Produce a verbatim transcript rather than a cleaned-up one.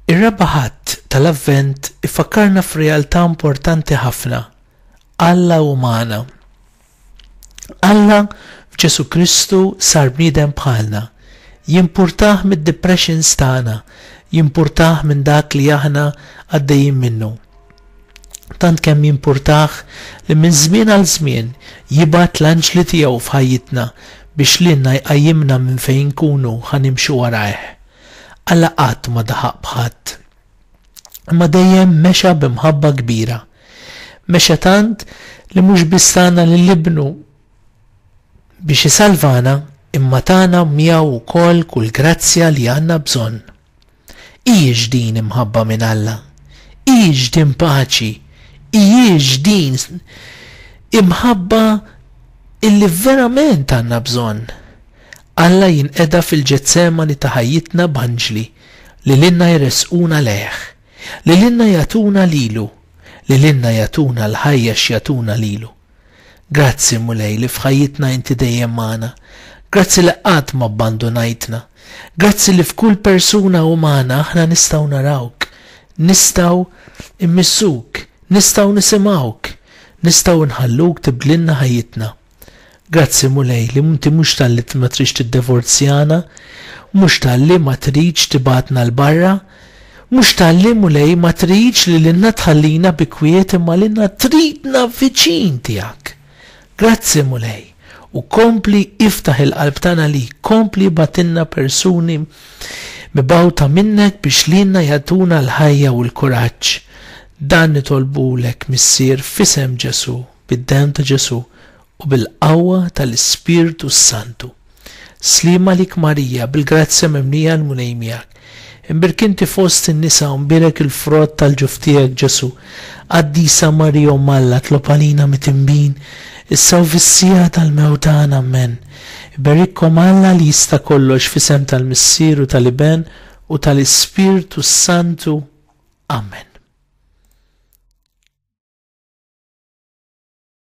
Ir-Raba' Ħadd tal-Avvent ifakkarna f'realtà importanti ħafna. Alla hu magħna. Alla f'Ġesù Kristu sar bniedem bħalna. Jimpurtah mid-depressions tagħna, jimpurtah minn dak li aħna għaddejjin minnu. Tant kemm jimpurtah li minn żmien għal żmien jibgħat l-anġli tiegħu f'ħajjitna biex lilna jqajjimna minn fejn nkunu ħa nimxu warajh. Alla qatt ma daħaq b'ħadd. Imma dejjem mexa b'imħabba kbira. Mexa tant li mhux biss tana lil ibnu biex isalvana, imma tana miegħu wkoll kull grazzja li għandna bżonn. Hijiex din imħabba minn Alla? Hijiex din paċi? Hijiex din imħabba illi verament għandna bżonn? Alla jinqeda fil-Ġetsemani ta' ħajjitna b'anġli li lilna jressquna lejh, li lilna jagħtuna lilu, li lilna jagħtuna l-ħajja x'jagħtuna lilu. Grazzi Mulej li f'ħajjitna inti dejjem magħna. Grazzi li qatt ma abbandunajtna. Grazzi li f'kull persuna umana aħna nistgħu narawk, nistgħu immissuk, nistgħu nisimgħuk, nistgħu nħalluk tibdlilna ħajjitna. Grazzi Mulej li inti mhux talli ma tridx tiddivorzjana, mhux talli ma tridx tibgħatna 'l barra, mhux talli Mulej ma tridx li lilna tħallina bi kwiet imma lilna tridna viċin tiegħek. Grazzi Mulej, u kompli iftaħ il-qalb tagħna li kompli ibgħatilna persuni mibgħuta minnek biex lilna jagħtuna l-ħajja u l-kuraġġ. Dan nitolbulek Missier f'isem Ġesù, bid-demm ta' Ġesù u bil-qawwa tal-Ispirtu Santu. Sliem għalik Marija, bil-grazzja mimlija l-Mulej miegħek. Imbierka inti fost in-nisa u mbierek il-frott tal-ġuf tiegħek Ġesù. Qaddisa Marija Omm Alla, tlob għalina midinbin, issa u fis-siegħa tal-mewt tagħna. Amen. Iberikkom Alla li jista' kollox f'isem tal-Missier u tal-Iben u tal-Ispirtu Santu. Amen.